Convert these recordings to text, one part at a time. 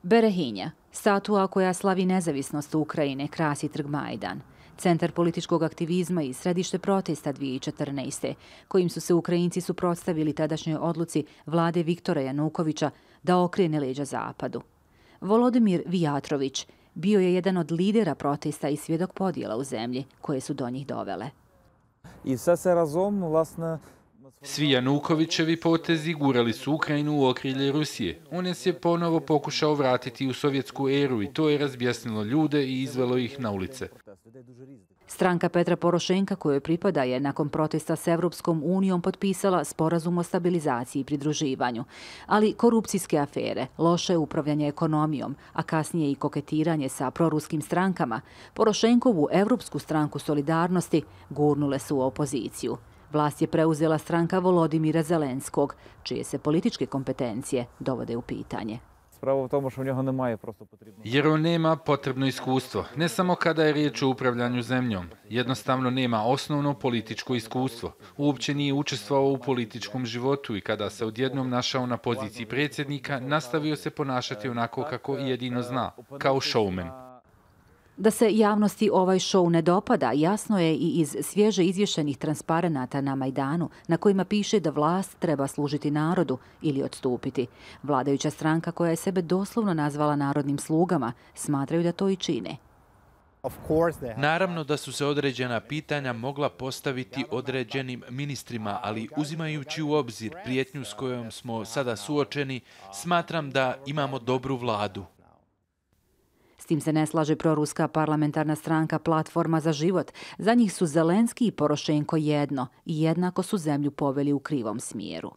Berehinja, statua koja slavi nezavisnost Ukrajine, krasi trg Majdan. Centar političkog aktivizma i središte protesta 2014. kojim su se Ukrajinci suprotstavili tadašnjoj odluci vlade Viktora Janukovića da okrene leđa Zapadu. Volodimir Vijatrović bio je jedan od lidera protesta i svjedok podjela u zemlji koje su do njih dovele. Svi Janukovićevi potezi gurali su Ukrajinu u okrilje Rusije. On nas je ponovo pokušao vratiti u sovjetsku eru i to je razbjesnilo ljude i izvelo ih na ulice. Stranka Petra Porošenka, kojoj pripada, je nakon protesta s Evropskom unijom potpisala sporazum o stabilizaciji i pridruživanju. Ali korupcijske afere, loše upravljanje ekonomijom, a kasnije i koketiranje sa proruskim strankama, Porošenkovu Evropsku stranku solidarnosti gurnule su u opoziciju. Vlast je preuzela stranka Volodimira Zelenskog, čije se političke kompetencije dovode u pitanje. Jer on nema potrebno iskustvo, ne samo kada je riječ o upravljanju zemljom. Jednostavno nema osnovno političko iskustvo. Uopće nije učestvovao u političkom životu i kada se odjednom našao na poziciji predsjednika, nastavio se ponašati onako kako jedino zna, kao showman. Da se javnosti ovaj šou ne dopada, jasno je i iz svježe izvješenih transparenata na Majdanu, na kojima piše da vlast treba služiti narodu ili odstupiti. Vladajuća stranka, koja je sebe doslovno nazvala narodnim slugama, smatraju da to i čine. Naravno da su se određena pitanja mogla postaviti određenim ministrima, ali uzimajući u obzir prijetnju s kojom smo sada suočeni, smatram da imamo dobru vladu. S tim se ne slaže proruska parlamentarna stranka Platforma za život. Za njih su Zelenski i Porošenko jedno i jednako su zemlju poveli u krivom smjeru.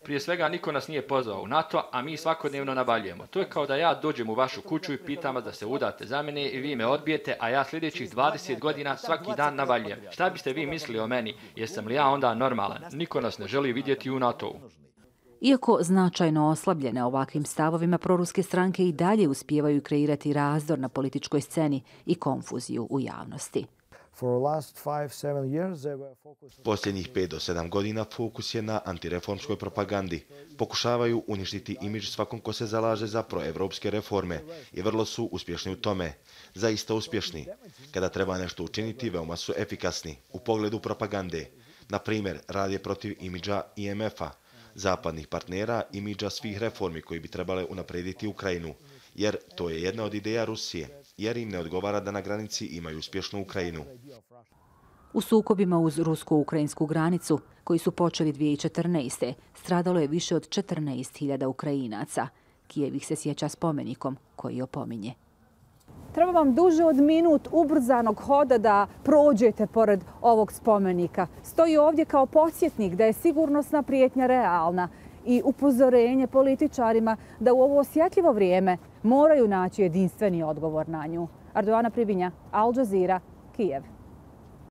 Prije svega niko nas nije pozvao u NATO, a mi svakodnevno navaljujemo. To je kao da ja dođem u vašu kuću i pitam vas da se udate za mene i vi me odbijete, a ja sljedećih 20 godina svaki dan navaljujem. Šta biste vi mislili o meni? Jesam li ja onda normalan? Niko nas ne želi vidjeti u NATO-u. Iako značajno oslabljene ovakvim stavovima, proruske stranke i dalje uspijevaju kreirati razdor na političkoj sceni i konfuziju u javnosti. Posljednjih 5 do 7 godina fokus je na antireformskoj propagandi. Pokušavaju uništiti imidž svakom ko se zalaže za proevropske reforme i vrlo su uspješni u tome. Zaista uspješni. Kada treba nešto učiniti, veoma su efikasni u pogledu propagande. Na primjer, rad je protiv imidža IMF-a, zapadnih partnera, imidža svih reformi koji bi trebale unaprijediti Ukrajinu, jer to je jedna od ideja Rusije, jer im ne odgovara da na granici imaju uspješnu Ukrajinu. U sukobima uz rusko-ukrajinsku granicu, koji su počeli 2014. stradalo je više od 14.000 Ukrajinaca. Kijev ih se sjeća spomenikom koji opominje. Treba vam duže od minut ubrzanog hoda da prođete pored ovog spomenika. Stoji ovdje kao podsjetnik da je sigurnosna prijetnja realna i upozorenje političarima da u ovo osjetljivo vrijeme moraju naći jedinstveni odgovor na nju. Ardoana Privinja, Al Jazeera, Kijev.